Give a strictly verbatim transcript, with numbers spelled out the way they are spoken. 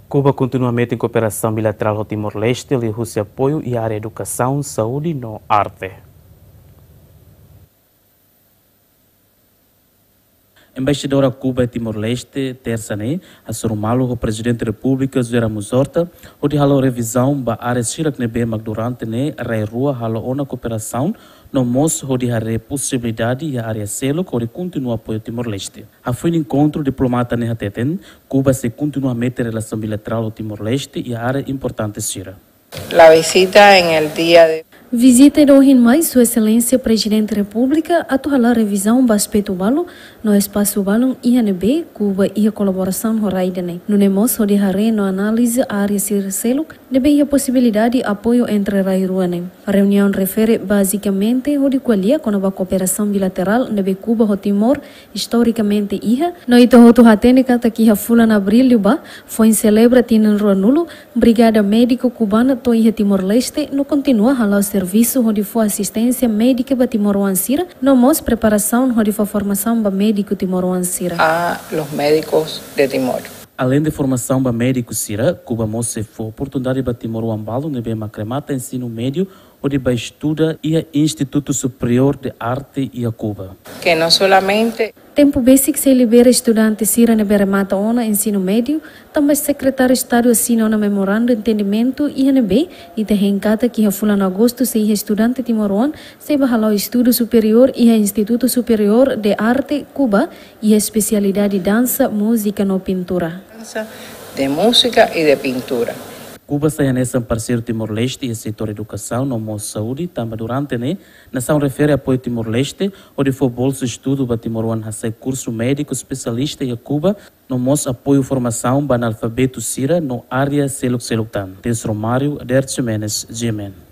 Kuba kontinua metin kooperasaun bilaterál ho Timor-Leste liuhusi apoiu iha área edukasaun, saúde no arte. Embaixadora Kuba iha Timor-Leste, tersa ne'e, hasoru malu ho Prezidente Repúblika José Ramos Horta, hodi halo revizaun ba área sira ne'ebé mak durante ne'e rai rua halo ona kooperasaun, no mós hodi haree posibilidade iha área seluk hodi kontinua apoiu Timor-Leste. Hafoin enkontru, diplomata ne'e hateten, Kuba sei kontinua metin relasaun bilaterál ho Timor-Leste iha área importante sira. La visita en el día de Vizita ida ohin mai Sua Exelénsia Prezidente Repúblika atu hala'o revizaun ba aspetu balu no espasu balun iha ne'ebé Kuba iha kolaborasaun ho rai ida-ne'e. Nune'e mós hodi haree no analiza área sira seluk ne'ebé iha posibilidade apoiu entre rai rua ne'e. Reuniaun refere bazikamente hodi ko'alia kona-ba kooperasaun bilaterál ne'ebé Kuba ho Timor istorikamente iha, no ita hotu hatene katak iha fulan Abríl liubá, foin selebra tinan ruanulu, Brigada Médiku Kubana to'o iha Timor-Leste no kontinua hala'o servisu hodi fó asisténsia médika ba timoroan sira, no mós preparasaun hodi fó formasaun ba médiku timoroan sira. A los médicos de Timor. Aleinde formasaun ba médiku sira, Kuba mós sei fó oportunidade ba timoroan balu ne'ebé mak remata ensinu médiu hodi bá estuda iha Instituto Superior de Arte iha Kuba. Que no solamente Tempu besik sei libera estudante sira ne'ebé remata ona ensinu médiu, tanba Sekretáriu Estadu asina ona memorandu entendimentu iha ne'ebé ita hein katak iha fulan Agostu sei iha estudante timoroan sei bá hala'o estudu superiór iha Instituto Superior de Arte Kuba, iha espesialidade dansa, múzika no pintura. Danza, de música y de pintura. Kuba sai hanesan parseiru Timor-Leste iha setór edukasaun no mós saúde, tanba durante ne'e nasaun refere apoiu Timor-Leste hodi fó bolsa estudu ba timoroan hasai kursu médiku espesialista iha Kuba, no mós apoiu formasaun ba analfabetu sira no área seluk-seluk tan. Tens Romário, Ader Ximenes, G M N.